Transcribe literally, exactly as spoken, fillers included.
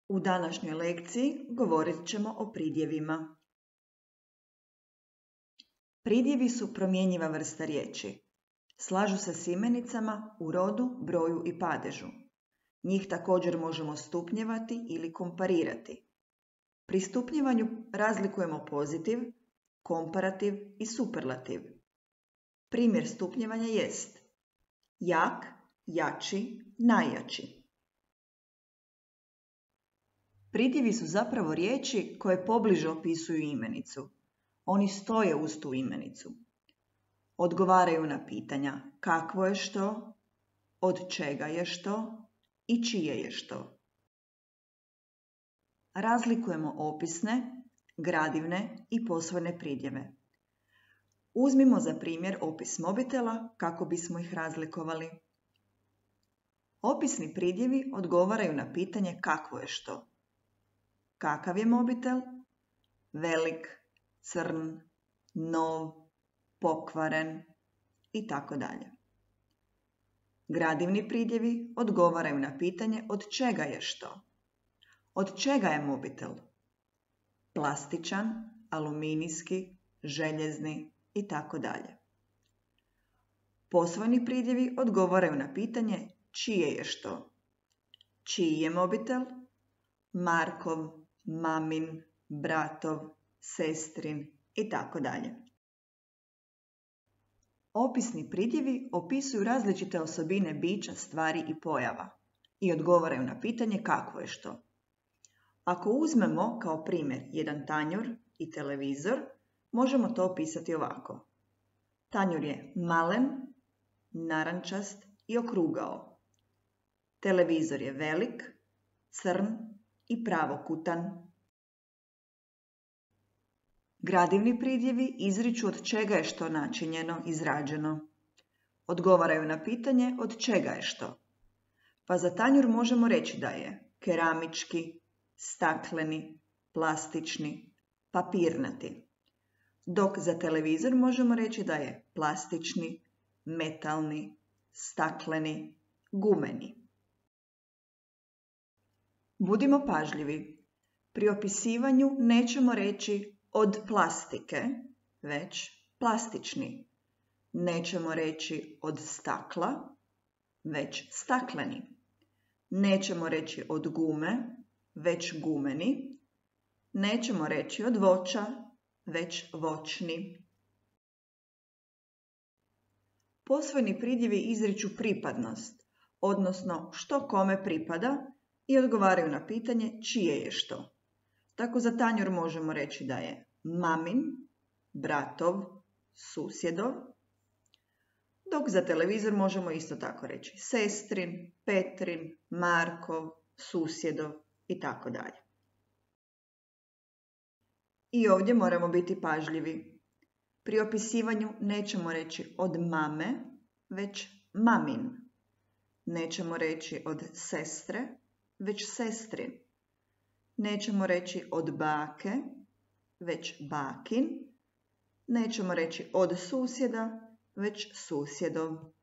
U današnjoj lekciji govorit ćemo o pridjevima. Pridjevi su promjenjiva vrsta riječi. Slažu se s imenicama u rodu, broju i padežu. Njih također možemo stupnjevati ili komparirati. Pri stupnjevanju razlikujemo pozitiv, komparativ i superlativ. Primjer stupnjevanja jest jak, jači, najjači. Pridjevi su zapravo riječi koje pobliže opisuju imenicu. Oni stoje uz tu imenicu. Odgovaraju na pitanja kakvo je što, od čega je što i čije je što. Razlikujemo opisne, gradivne i posvojne pridjeve. Uzmimo za primjer opis mobitela kako bismo ih razlikovali. Opisni pridjevi odgovaraju na pitanje kakvo je što. Kakav je mobitel? Velik, crn, nov, pokvaren i tako dalje. Gradivni pridjevi odgovaraju na pitanje od čega je što. Od čega je mobitel? Plastičan, aluminijski, željezni i tako dalje. Posvojni pridjevi odgovaraju na pitanje čije je što. Čiji je mobitel? Markov, mamin, bratov, sestrin i tako dalje. Opisni pridjevi opisuju različite osobine bića, stvari i pojava i odgovaraju na pitanje kakvo je što. Ako uzmemo kao primjer jedan tanjur i televizor, možemo to opisati ovako. Tanjur je malen, narančast i okrugao. Televizor je velik, crn i pravokutan. Gradivni pridjevi izriču od čega je što načinjeno, izrađeno. Odgovaraju na pitanje od čega je što. Pa za tanjur možemo reći da je keramički, stakleni, plastični, papirnati. Dok za televizor možemo reći da je plastični, metalni, stakleni, gumeni. Budimo pažljivi. Pri opisivanju nećemo reći od plastike, već plastični. Nećemo reći od stakla, već stakleni. Nećemo reći od gume, već gumeni. Nećemo reći od voća, već voćni. Posvojni pridjevi izriču pripadnost, odnosno što kome pripada i odgovaraju na pitanje čije je što. Tako za tanjur možemo reći da je mamin, bratov, susjedov, dok za televizor možemo isto tako reći sestrin, Petrin, Markov, susjedov i tako dalje. I ovdje moramo biti pažljivi. Pri opisivanju nećemo reći od mame, već mamin. Nećemo reći od sestre, već sestrin. Nećemo reći od bake, već bakin. Nećemo reći od susjeda, već susjedov.